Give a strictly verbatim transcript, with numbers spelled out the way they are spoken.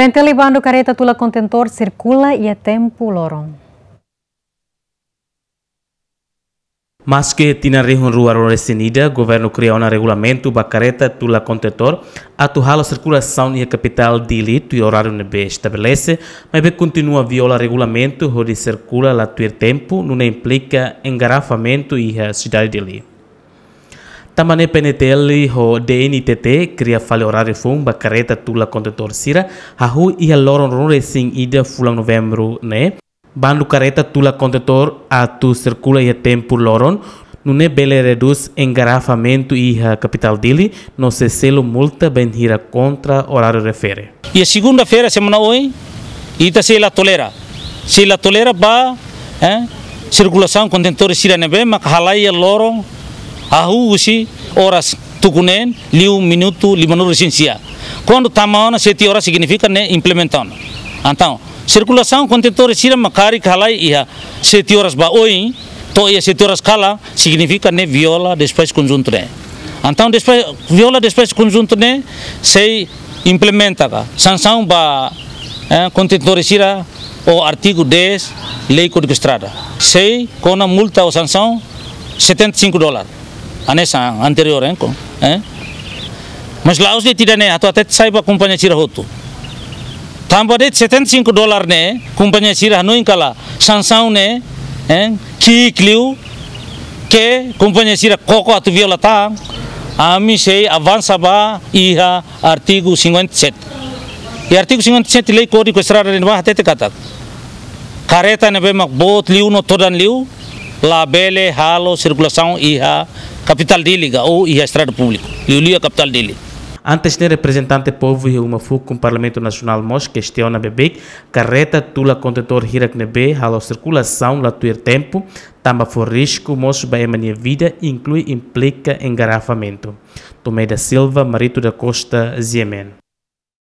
Entele bandu kareta tula kontentór sirkula iha tempu loron. Maske tinan rihun rua ruanulu-resin-ida, governu kria ona regulamentu ba kareta tula kontentór atu halo sirkulasaun iha kapitál Dili tuir oráriu ne'ebé estabelese, maibé kontinua viola regulamentu hodi sirkula la tuir tempu, nune'e implika engarrafamentu iha sidade Dili. Tanba ne'e P N T L ho D N T T kria fali oráriu foun ba kareta tula kontentór sira, hahú iha loron ruanulu-resin-ida fulan Novembru ne'e, bandu kareta tula kontentór atu sirkula iha tempu loron, nune'e bele redús engarrafamentu iha kapitál Dili, no sei selu multa bainhira kontra oráriu refere. Iha segunda-feira semana oin, ita sei la tolera. Sei la tolera ba, eh, sirkulasaun kontentór sira ne'ebé mak halai iha loron, hahú husi oras tuku neen, liu minutu limanulu-resin-sia. Kuandu tama ona sete oras signifika ne'e implementa ona. Entaun, sirkulasaun kontentór sira mak karik halai iha sete oras ba oin, to'o iha sete oras kalan, signifika ne'e viola despaxu konjuntu ne'e. Entaun, despa-, viola despaxu konjuntu ne'e sei implementa ka sansaun ba, eh, kontentór sira ho artigu dez Lei Kódigu Estrada. Sei kona multa ou sansaun setenta e cinco dólar. Hanesan anteriór, eh, ko, eh. Mas la'ós de'it ida-ne'e, atu hatete sai ba kompañia sira hotu. Tanba de'it setenta e cinco dólar ne'e, kompañia sira hanoin katak sansaun ne'e, eh, ki'ik liu, ke kompañia sira koko atu viola tan, ami sei avansa ba iha artigu cinquenta e sete. Iha artigu cinquenta e sete Lei Kódigu Estrada ne'ebá hatete katak kareta ne'ebé mak boot liu no todan liu labele halo sirkulasaun iha kapitál Dili ka ou iha estrada públiku, liuliu iha kapitál Dili. Antes ne'e, reprezentante povu iha uma fukun Parlamentu Nasionál mós kestiona beibeik kareta tula kontentór hirak ne'ebé halo sirkulasaun la tuir tempu, tanba fó risku mós ba ema nia vida, inklui implika engarrafamentu. Tomé da Silva, Marito da Costa, G M N.